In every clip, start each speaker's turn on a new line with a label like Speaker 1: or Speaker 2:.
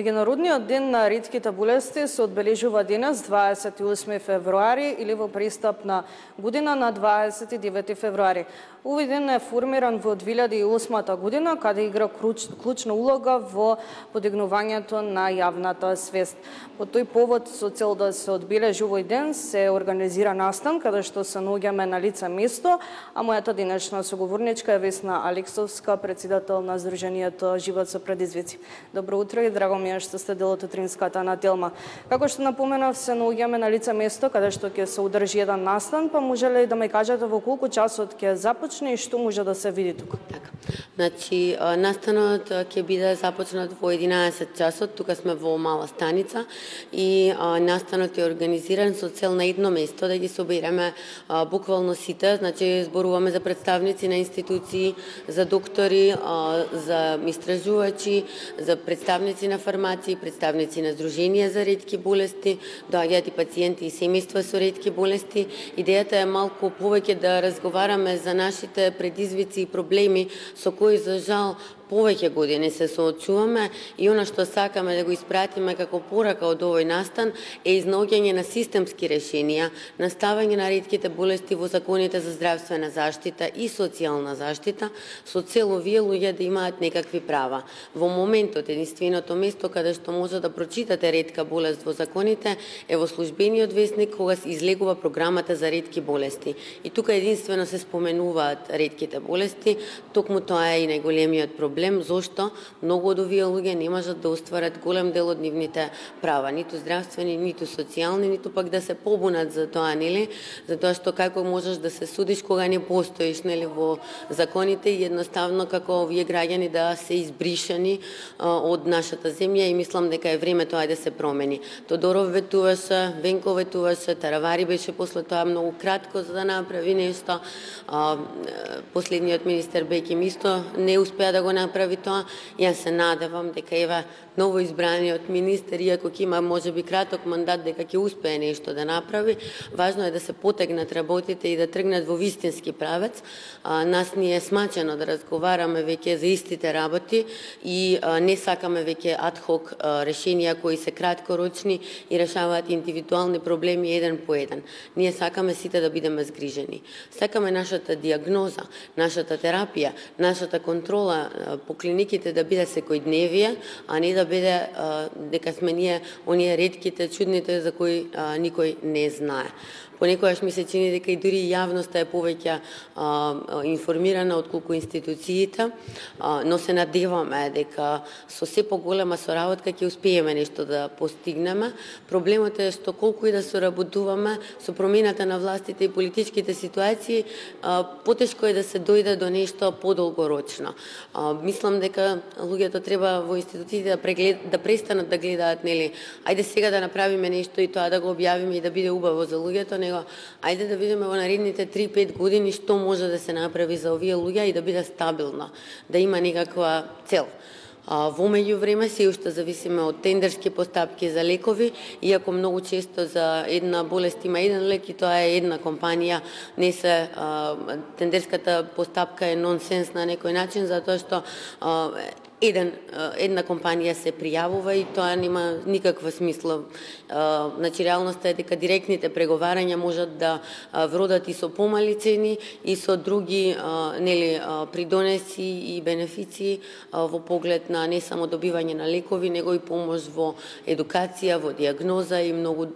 Speaker 1: Меѓународниот ден на ретките болести се одбележува денес 28 февруари или во пристапна година на 29 февруари. Овој ден е формиран во 2008 година, каде игра клучна улога во подигнувањето на јавната свест. По тој повод, со цел да се одбележи овој ден, се организира настан каде што се наоѓаме на лице место, а мојата денешна соговорничка е Весна Алексовска, председател на Сдруженијето Живот со предизвици. Добро утро и драго ми е што сте дел од утринската нателма. Како што напоменав, се наоѓаме на лице место каде што ќе се одржи еден настан, па може ли да ме кажете во колку часот ќе започне и што може да се види тука?
Speaker 2: Така. Значи, настанот ќе биде започнат во 11 часот, тука сме во мала станица и настанот е организиран со цел на едно место да ги собереме буквално сите, значи зборуваме за представници на институции, за доктори, за истражувачи, за представници на фармација, представници на Сдруженија за ретки болести, доаѓаат и пациенти и семејства со ретки болести. Идејата е малку повеќе да разговараме за нашите предизвици и проблеми со кои за жал повеќе години се соочуваме и она што сакаме да го испратиме како порака од овој настан е изнаоѓање на системски решенија, наставање на ретките болести во законите за здравствена заштита и социјална заштита, со цел овие луѓе да имаат некакви права. Во моментот единственото место каде што може да прочитате ретка болест во законите е во службениот весник кога се излегува програмата за ретки болести. И тука единствено се споменуваат ретките болести, токму тоа е и најголемиот проблем. Зошто многу од овие луѓе не можат да остварат голем дел од нивните права, ниту здравствени, ниту социјални, ниту пак да се побунат за тоа, нели? Затоа што како можеш да се судиш кога не постоиш, нели, во законите и едноставно како овие граѓани да се избришани од нашата земја и мислам дека е време тоа да се промени. Тодоров ветуваше, Венко ветуваше, Таравари беше после тоа многу кратко за да направи нешто. Последниот министер Беким исто не успеа да го направи тоа. Јас се надевам дека ева новоизбраниот министер, иако ќе има можеби краток мандат, дека ќе успее нешто да направи. Важно е да се потегнат работите и да тргнат во вистински правец. Нас ни е смачено да разговараме веќе за истите работи и не сакаме веќе адхок решенија кои се краткорочни и решаваат индивидуални проблеми еден по еден. Ние сакаме сите да бидеме згрижени. Сакаме нашата диагноза, нашата терапија, нашата контрола по клиниките да биде секојдневие, а не да биде дека сме ние оние ретките, чудните за кои никој не знае. Понекогаш ми се чини дека и дури јавноста е повеќе информирана отколку институциите, но се надеваме дека со се поголема соработка ќе успееме нешто да постигнеме. Проблемот е што колку и да соработуваме со промената на властите и политичките ситуации, потешко е да се дојде до нешто подолгорочно. Мислам дека луѓето треба во институциите да престанат да гледаат, нели, ајде сега да направиме нешто и тоа да го објавиме и да биде убаво за луѓето, ајде да видиме во наредните 3-5 години што може да се направи за овие луѓе и да биде стабилно, да има некаква цел. Во меѓувреме се уште зависиме од тендерски постапки за лекови, иако многу често за една болест има еден лек и тоа е една компанија, не се тендерската постапка е нонсенс на некој начин, затоа што една компанија се пријавува и тоа нема никаква смисла. Значи, реалноста е дека директните преговарања можат да вродат и со помали цени и со други придонеси и бенефиции во поглед на не само добивање на лекови, него и помош во едукација, во диагноза и многу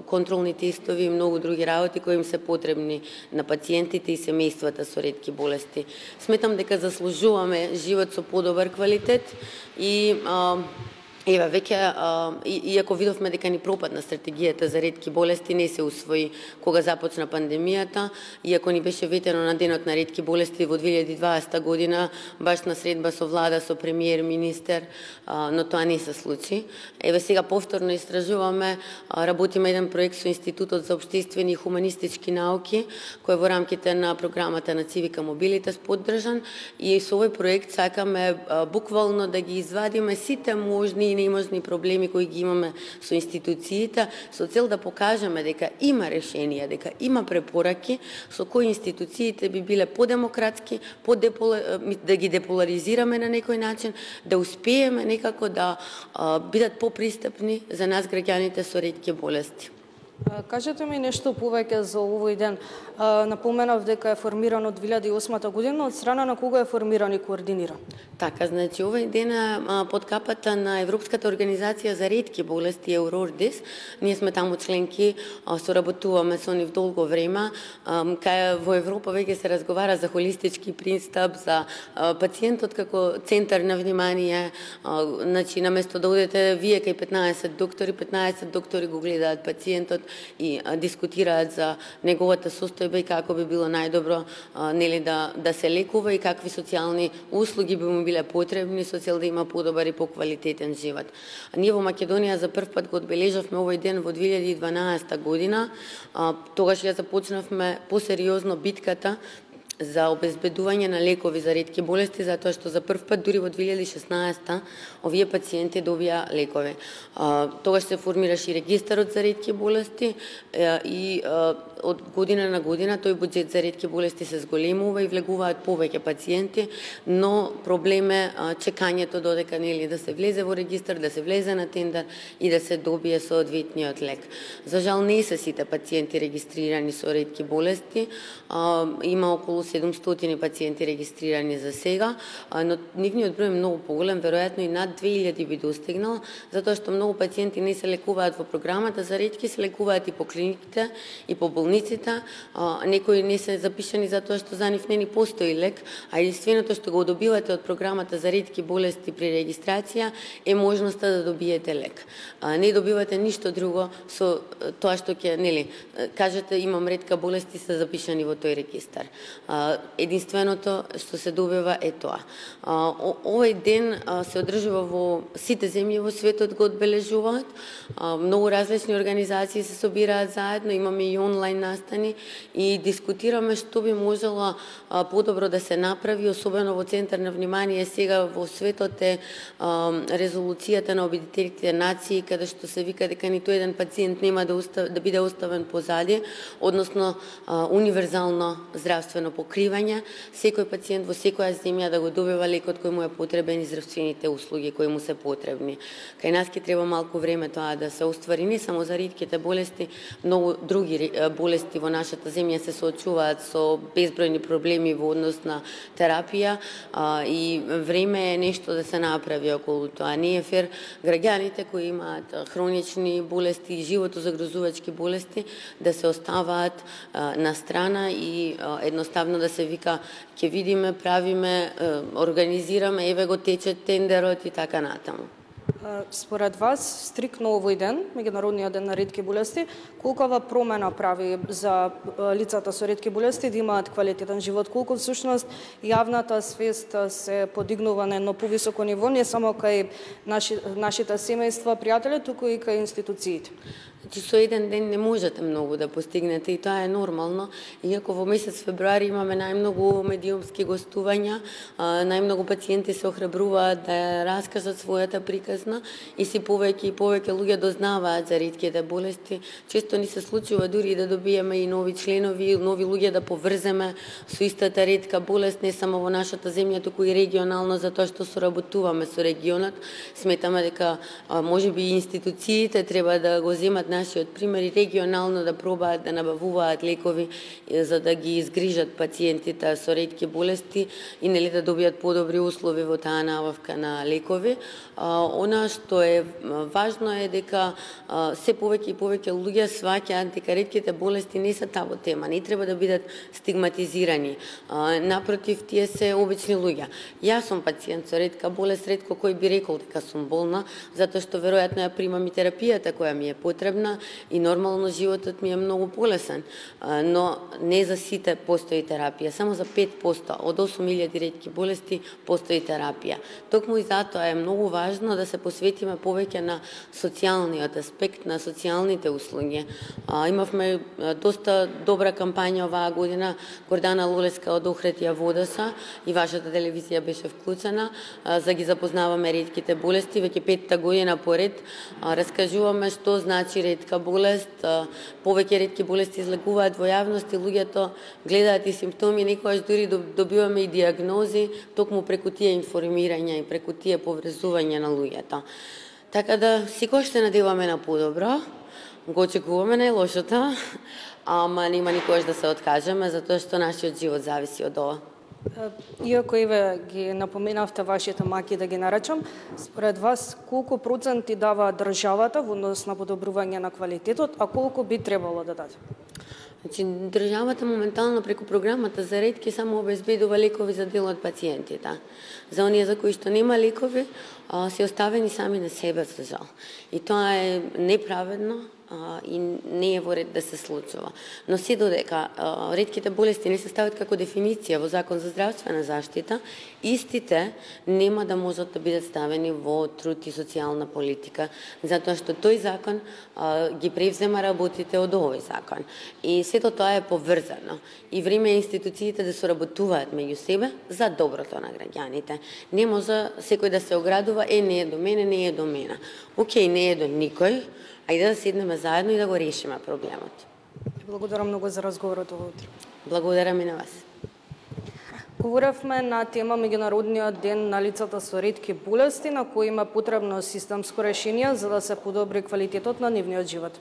Speaker 2: контролни тестови и многу други работи кои им се потребни на пациентите и семејствата со ретки болести. Сметам дека заслужуваме живот со подобар квалитет и ева, веќе, иако видовме дека ни пропадна стратегијата за ретки болести, не се усвои кога започна пандемијата, иако ни беше ветено на денот на ретки болести во 2020 година, баш на средба со влада, со премиер, министер, но тоа не се случи. Еве сега повторно истражуваме, работиме еден проект со Институтот за општествени и хуманистички науки, кој во рамките на програмата на Цивика Мобилитас поддржан, и со овој проект сакаме буквално да ги извадиме сите можни и неможни проблеми кои ги имаме со институциите, со цел да покажеме дека има решенија, дека има препораки со кои институциите би биле подемократски, да ги деполаризираме на некој начин, да успееме некако да бидат попристапни за нас граѓаните со ретки болести.
Speaker 1: Кажете ми нешто повеќе за овој ден. Напоменав дека е формиран од 2008 година, од страна на кого е формиран и координиран?
Speaker 2: Така, значи овој ден е под капата на Европската организација за ретки болести Еврордис. Ние сме таму членки, соработуваме со нив долго време. Кај во Европа веќе се разговара за холистички пристап, за пациентот како центар на внимание. Значи наместо да одете вие кај 15 доктори го гледаат пациентот и дискутираат за неговата состојба и како би било најдобро нели да се лекува и какви социјални услуги би му биле потребни со цел да има подобар и поквалитетен живот. Ние во Македонија за прв пат го одбележавме овој ден во 2012 година. Тогаш ја започнавме посериозно битката за обезбедување на лекови за ретки болести, затоа што за прв пат дури во 2016 овие пациенти добија лекови. Тогаш се формираше регистарот за ретки болести и од година на година тој буџет за ретки болести се зголемува и влегуваат повеќе пациенти, но проблем е чекањето додека нели да се влезе во регистар, да се влезе на тендер и да се добие соодветниот лек. За жал не се сите пациенти регистрирани со ретки болести, има околу 700 пациенти регистрирани за сега, но нивниот број е многу поголем, веројатно и над 2000 би достигнал, затоа што многу пациенти не се лекуваат во програмата за ретки, се лекуваат и по клиниките и по болниците, некои не се запишани затоа што за нив не ни постои лек, а единственото што го добивате од програмата за ретки болести при регистрација е можноста да добиете лек. Не добивате ништо друго со тоа што ќе нели кажете имам ретка болест и се запишани во тој регистар. Единственото што се добива е тоа. Овој ден се одржува во сите земји во светот, го одбележуваат. Многу различни организации се собираат заедно, имаме и онлайн настани и дискутираме што би можело подобро да се направи, особено во центар на внимание сега во светот е резолуцијата на Обединетите нации, каде што се вика дека ниту еден пациент нема да биде оставен позади, односно универзално здравствено покривање, секој пациент во секоја земја да го добива лекот кој му е потребен и здравствените услуги кои му се потребни. Кај нас ќе треба малку време тоа да се оствари, не само за ретките болести, многу други болести во нашата земја се соочуваат со безбројни проблеми во однос на терапија и време е нешто да се направи околу тоа. Не е фер граѓаните кои имаат хронични болести и животозагрозувачки болести да се оставаат на страна и едноставно да се вика ќе видиме, правиме, организираме, еве го тече тендерот и така натаму.
Speaker 1: Според вас, стрикно овој ден, Меѓународниот ден на ретки болести, колкава промена прави за лицата со ретки болести да имаат квалитетен живот? Колку всушност јавната свест се подигнува на едно повисоко ниво, не само кај нашите семејства, пријатели, туку и кај институциите?
Speaker 2: Со еден ден не можете многу да постигнете и тоа е нормално, иако во месец февруари имаме најмногу медиумски гостувања, најмногу пациенти се охрабруваат да раскажат својата приказна и си повеќе и повеќе луѓе дознаваат за ретките болести. Често ни се случува дури да добиеме и нови членови, нови луѓе да поврземе со истата ретка болест, не само во нашата земја, туку и регионално, затоа што соработуваме со регионот. Сметаме дека можеби и институциите треба да го земат нашиот пример и регионално да пробаат да набавуваат лекови за да ги изгрижат пациентите со ретки болести и нели да добијат подобри услови во таа набавка на лекови. Она што е важно е дека се повеќе и повеќе луѓе сваќаат дека ретките болести не се табу тема, не треба да бидат стигматизирани. Напротив, тие се обични луѓе. Јас сум пациент со ретка болест, ретко кој би рекол дека сум болна, затоа што веројатно ја примам и терапијата која ми е потребна. слободна и нормално животот ми е многу полесен. Но не за сите постои терапија, само за 5% од 8000 ретки болести постои терапија. Токму и затоа е многу важно да се посветиме повеќе на социјалниот аспект, на социјалните услуги. Имавме доста добра кампања оваа година. Гордана Лолеска од Охридија Водоса и вашата телевизија беше вклучена за ги запознаваме ретките болести. Веќе 5-та година поред раскажуваме што значи ретка болест. Повеќе ретки болести излегуваат во јавност и луѓето гледаат и симптоми, некогаш дури добиваме и диагнози токму преку тие информирања и преку тие поврзување на луѓето. Така да секогаш се надеваме на подобро, го очекуваме најлошото, ама нема никогаш да се откажеме, затоа што нашиот живот зависи од ова.
Speaker 1: Иако Еве ги напоменавте вашите маки да ги наречам, според вас колку проценти дава државата во однос на подобрување на квалитетот, а колку би требало да даде?
Speaker 2: Значи, државата моментално преку програмата за ретки само обезбедува лекови за дел од пациентите. За оние за кои што нема лекови, се оставени сами на себе, за жал. И тоа е неправедно и не е во ред да се случува. Но се додека ретките болести не се стават како дефиниција во Закон за здравствена заштита, истите нема да можат да бидат ставени во труд и социјална политика, затоа што тој закон ги превзема работите од овој закон. И сето тоа е поврзано. И време е институциите да соработуваат меѓу себе за доброто на граѓаните. Не може секој да се оградува, не е до мене, не е до мене. Океј, не е до никој, ајде да седнеме заедно и да го решиме проблемот.
Speaker 1: Благодарам многу за разговорот ово утро.
Speaker 2: Благодарам и на вас.
Speaker 1: Говоревме на тема Меѓународниот ден на лицата со ретки болести, на кој има потребно системско решение за да се подобри квалитетот на нивниот живот.